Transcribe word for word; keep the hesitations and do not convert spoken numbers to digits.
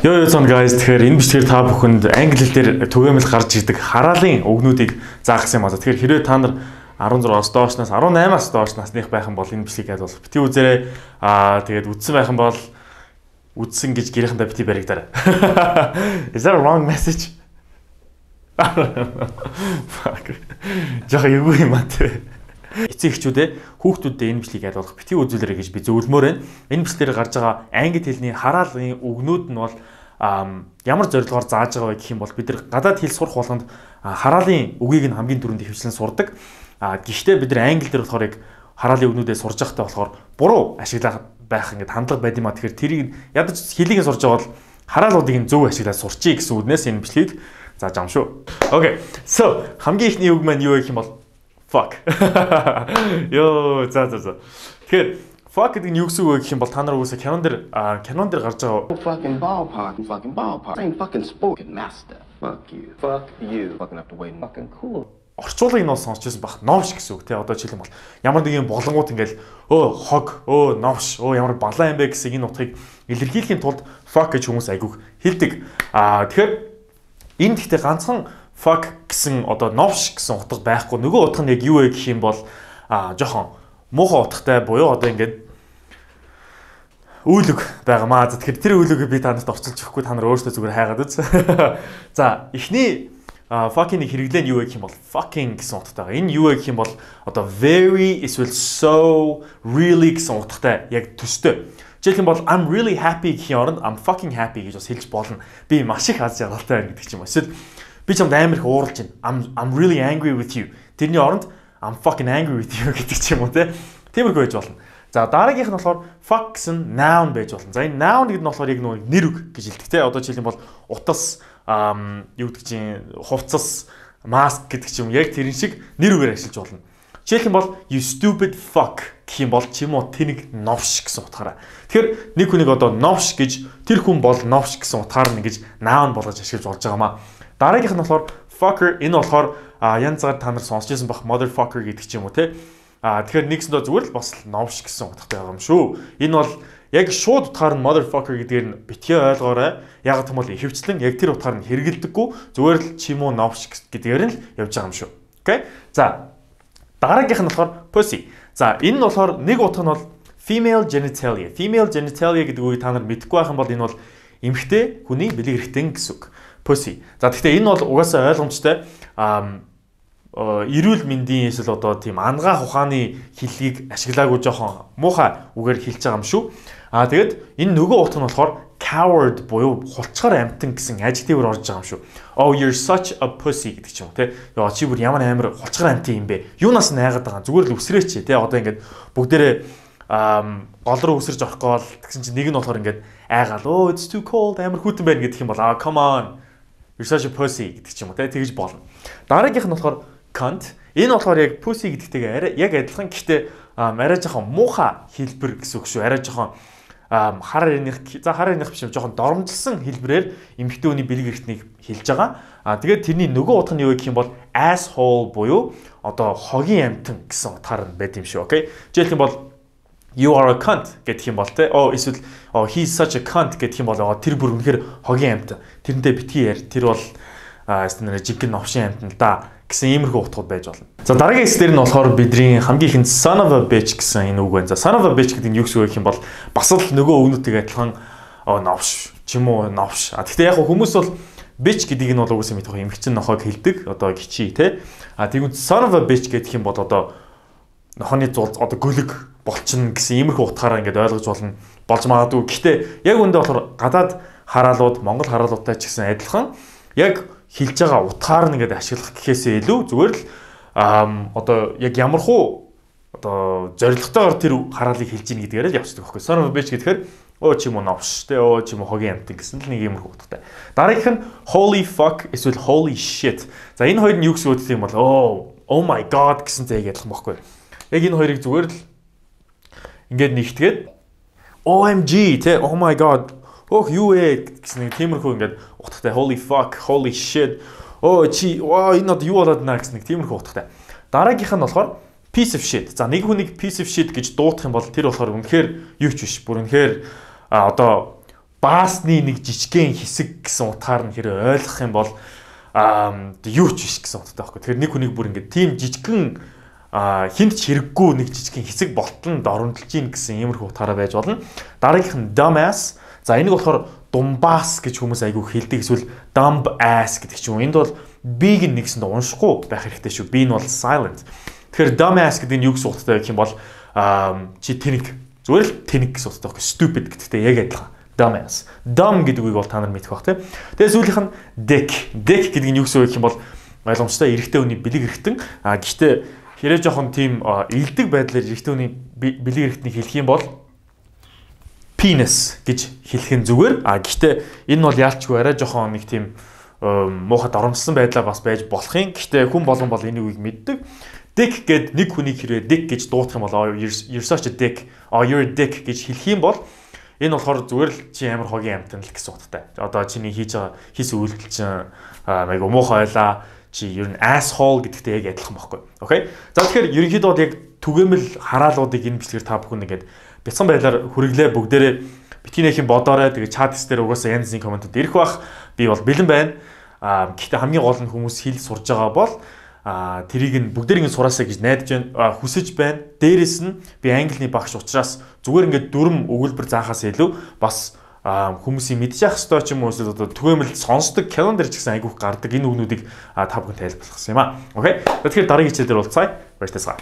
Yo yo son guys тэгэхээр энэ бичлэгээр та бүхэнд англи хэл дээр түгээмэл гарч ирдэг хараалын үгнүүдийг заахсан юм аа. Тэгэхээр хэрвээ та нар арван зургаас доошноос арван аймаас доош насных байх юм бол энэ бичлэгийг бол бити үзээрэй. Аа тэгээд үдсэн байх юм бол үдсэн гэж гэрийнхэнтэй бити баригдаарай. Is that a wrong message? Fuck. Жохо юу юм аа те. Эцэг эхчүүдээ хүүхдүүддээ энэ бичлэгийг айлуулах бити үзүүлээрэй гэж би зөвлөмөр байна. Энэ бичлэлээр гарч байгаа англи хэлний хараалын үгнүүд нь бол ямар зорилгоор зааж байгаа вэ гэх юм бол бид нар гадаад хэл сурах болгонд хараалын үгийг нь хамгийн түрүүнд хөвчлэн сурдаг. А гэхдээ бид нар англи дээр болохоор яг хараалын үгнүүдээ сурж байхдаа болохоор буруу ашиглах байх ингээд хандлага байд юм а. Тэгэхээр тэрийг ядаж хэлийг сурж байгаа бол хараалуудыг нь зөв ашиглаад сурчий гэсэн үгнээс энэ бичлэгийг зааж байгаа юм шүү. Okay. So хамгийн ихний үг маань юу гэх юм бол fuck. Йоо, за за за. Тэгэхээр fuck гэдэг нь юу гэсэн үг вэ гэх юм бол та нар үгүйсээ кинон дээр кинон дээр гарч байгаа fucking ballpark, fucking ballpark. Same fucking sport master. Fuck you. Fuck you. Fucking up the way fucking cool. Орчуулгыг нь бол сонсчихсан баг. Новш гэсэн үг тий. Одоо жишээлбэл бол ямар нэгэн болонгууд ингээл өө хог, өө новш, өө ямар балаа юм бэ гэсэн энэ утгыг илэрхийлэхийн тулд fuck гэж хүмүүс айгүйх хэлдэг. Аа тэгэхээр энэ гэхдээ ганцхан fuck гэсэн одоо новш гэсэн утга байхгүй. Нөгөө утга нь яг юу вэ гэх юм бол аа жоохон муухай утгатай буюу одоо ингээд үйлэг байгаамаа. За тэгэхээр тэр үйлэгийг би та нарт орчуулж өгөхгүй та нар өөрсдөө зүгээр хайгаад үз. За эхний fucking-ийг хэрэглэн юу вэ гэх юм бол fucking гэсэн утгатай. Энэ юу вэ гэх юм бол одоо very эсвэл so really гэсэн утгатай яг төстэй. Жишээлх юм бол I'm really happy гэхийн оронд I'm fucking happy гэж бас хэлж болно. Би маш их аз жаргалтай байна гэдэг ч юм уу. Эсвэл би чамд амар их ууралж байна. I'm I'm really angry with you. Тэрний оронд I'm fucking angry with you гэдэг ч юм уу те. Тиймэрхүү байж болно. За дараагийнх нь болохоор fuck гэсэн noun байж болно. За энэ noun гэдэг нь болохоор яг нэг нэр үг гэж хэлдэг те. Одоо жишээлх юм бол утас юу гэдэг чинь хувцас mask гэдэг ч юм яг тэрэн шиг нэр үгээр ашиглаж болно. Жишээлх юм бол you stupid fuck гэх юм бол ч юм уу тэнэг новш гэсэн утгаараа. Тэгэхээр нэг хүнийг одоо новш гэж тэр хүн бол новш гэсэн утгаар нь ингэж noun болгож ашиглаж болж байгаамаа. Дараагийнх нь болохоор fucker энэ болохоор янз бүр та нар сонсч байсан бах motherfucker гэдэг ч юм уу те. А тэгэхээр нэгсэндээ зүгээр л бас новш гэсэн утгатай байгаа юм шүү. Энэ бол яг шууд утгаар нь motherfucker гэдгээр нь битгий ойлгоорой. Яг гэвэл ихэвчлэн яг тэр утгаар нь хэрэгэлдэггүй зүгээр л ч юм уу новш гэдгээр нь л явж байгаа юм шүү. Окей? За дараагийнх нь болохоор pussy. За энэ нь болохоор нэг утга нь бол female genitalia. Female genitalia гэдэг үгийг та нар мэдэхгүй байх юм бол энэ бол эмэгтэй хүний бэлэг эрхтэн гэсэн үг. Pussy. За гэхдээ энэ бол угаасаа ойлгомжтой. Аа эрүүл мэндийн эсвэл одоо тийм ангаа ухааны хэллэгийг ашиглаагүй жоохон муухай үгээр хэлж байгаа юм шүү. Аа тэгэд энэ нөгөө утга нь болохоор coward буюу хулчгаар амтан гэсэн adjective-ээр орж байгаа юм шүү. Oh you're such a pussy гэдэг ч юм уу те. Яа чи бүр ямар амар хулчгаар амтан юм бэ? Юунаас найгаад байгаа? Зүгээр л үсрээч те. Одоо ингээд бүгдээрээ гол руу үсэрж орох гол гэсэн чинь нэг нь болохоор ингээд айгаал oh it's too cold амар хүйтэн байна гэдэг юм бол ah come on you're such a pussy гэдэг ч юм уу те. Тэгж болно. Дараагийнх нь болохоор cunt. Энэ болохоор яг pussy гэдэгтэйгээ яг адилхан гэхдээ арай жоохон муухай хэлбэр гэсэн үг шүү. Арай жоохон хар ирэх за хар ирэх биш юм жоохон доромжилсан хэлбэрээр эмэгтэйний бэлэг эрхтнийг хэлж байгаа. А тэгээд тэрний нөгөө утга нь юу гэх юм бол asshole буюу одоо хогийн амтан гэсэн утгаар нь байд юм шүү. Окей. Жишээлх юм бол you are a cunt гэдэг юм бол те. Oh эсвэл oh he's such a cunt гэдэг юм бол тэр бүр үнэхээр хогийн амтан. Тэрнтэй битгий яар. Тэр бол эстэнэ жигэн новшин амтан л да гэсэн иймэрхүү утгууд байж болно. За дараагийн хэсгээр нь болохоор бидний хамгийн ихэнд son of a bitch гэсэн энэ үг байна. За son of a bitch гэдэг нь юу гэсэн үг юм бол бас л нөгөө өгнүүдтэй адилхан новш ч юм уу новш. А гэхдээ яг хүмүүс бол bitch гэдгийг нь бол үгүйсээ мэдэх эмэгчин нохойг хэлдэг. Одоо гिचи те. А тэгвэл son of a bitch гэдэг юм бол одоо нохооны зул одоо гөлөг болчин гэсэн иймэрхүү утгаараа ингээд ойлгож болно болж магадгүй. Гэхдээ яг үндэ болохоор гадаад хараалууд Монгол хараалуудтай ч гэсэн адилхан яг хэлж байгаа утгаар нь ингээд ашиглах гэхээсээ илүү зүгээр л одоо яг ямархуу одоо зоригтойгоор тэр хараалыг хэлж ийн гэдгээр л явцдаг байхгүй. Son of a bitch гэхээр өө ч юм уу новш те өө ч юм уу хогийн амтан гэсэн л нэг иймэрхүү утгатай. Дараагийнх нь holy fuck эсвэл holy shit. За энэ хоёр нь юу гэсэн үг юм бол оо oh my god гэсэн зэйг ялах байхгүй. Яг энэ хоёрыг зүгээр л ингээд нэгтгээд O M G те oh my god ох юу ээ гэсэн нэг тиймэрхүү ингээд утгатай holy fuck, holy shit. Оо чи ваа энэ одоо юу болоод наа гэсэн нэг тиймэрхүү утгатай. Дараагийнх нь болохоор piece of shit. За нэг хүнийг piece of shit гэж дуудах юм бол тэр болохоор үнэхээр юу ч биш. Бүр үнэхээр одоо баасны нэг жижигхэн хэсэг гэсэн утгаар нь хэрэг ойлгох юм бол аа юу ч биш гэсэн утгатай байхгүй. Тэгэхээр нэг хүнийг бүр ингээд тийм жижигхэн хинт ч хэрэггүй нэг жижигхэн хэсэг болтонд оромжилж ийн гэсэн иймэрхүү утгаараа байж болно. Дараагийнх нь dumbass. За энийг болохоор думбаас гэж хүмүүс айгүй хэлдэг, эсвэл dumb ass гэдэг ч юм. Энд бол B-г нэгсэнд уншихгүй байх хэрэгтэй шүү. B нь бол silent. Тэгэхээр dumbass гэдэг нь юу гэсэн утгатай гэх юм бол чи тэнэг. Зүгээр л тэнэг гэсэн утгатай байхгүй. Stupid гэдэгтэй яг адилхан. Dumbass. Dumb гэдэг үгийг бол та нар мэдэх бах тийм. Тэгээ сүүлийнх нь dick. Dick гэдэг нь юу гэсэн үг гэх юм бол ойлгомжтой эрэгтэй хүний бэлэг эрэгтэн. А гэхдээ хэрэг жоохон тийм илдэг байдлаар эрэгтэй хүний бэлэг эрэгтнийг хэлэх юм бол penis гэж хэлэх нь зүгээр. А гэхдээ энэ бол яалчгүй арай жоохон нэг тийм муухай доромжсон байдлаар бас байж болох юм. Гэхдээ хүн болгон бол энэ үгийг мэддэг. Dick гэд нэг хүнийг хэрэг dick гэж дуудах юм бол you're such a dick, or you're a dick гэж хэлэх юм бол энэ болохоор зүгээр л чи амар хогийн амтан л гэсэн утгатай. Одоо чиний хийж байгаа хийсэн үйлдэл чинь айгу муухай байлаа. Чи ер нь asshole гэдэгтэй яг адилхан байхгүй. Окей. За тэгэхээр ерөнхийдөө бол яг түгээмэл хараалуудыг энэ бичлэгээр та бүхэн ингээд бяцхан байдлаар хүргэлээ бүгдээрээ битгий нэхийн бодоорой. Тэгээ чат дээр угаасаа янз бүрийн комментууд ирэх бах. Би бол бэлэн байна. Аа гэхдээ хамгийн гол нь хүмүүс хэл сурж байгаа бол а тэрийг нь бүгдэрийг нь сураасаа гэж найдаж байна, хүсэж байна. Дээрээс нь би англиний багш учраас зүгээр ингээд дүрм өгүүлбэр заахаас илүү бас хүмүүсийн мэдчих хэвээр ч юм уу одоо түгээмэл сонсдог календар ч гэсэн айгүйх гардаг энэ үгнүүдийг та бүхэн тайлбарлах юм аа. Окей. Тэгэхээр дараагийн хичээл дээр уулзъя. Баярлалаа.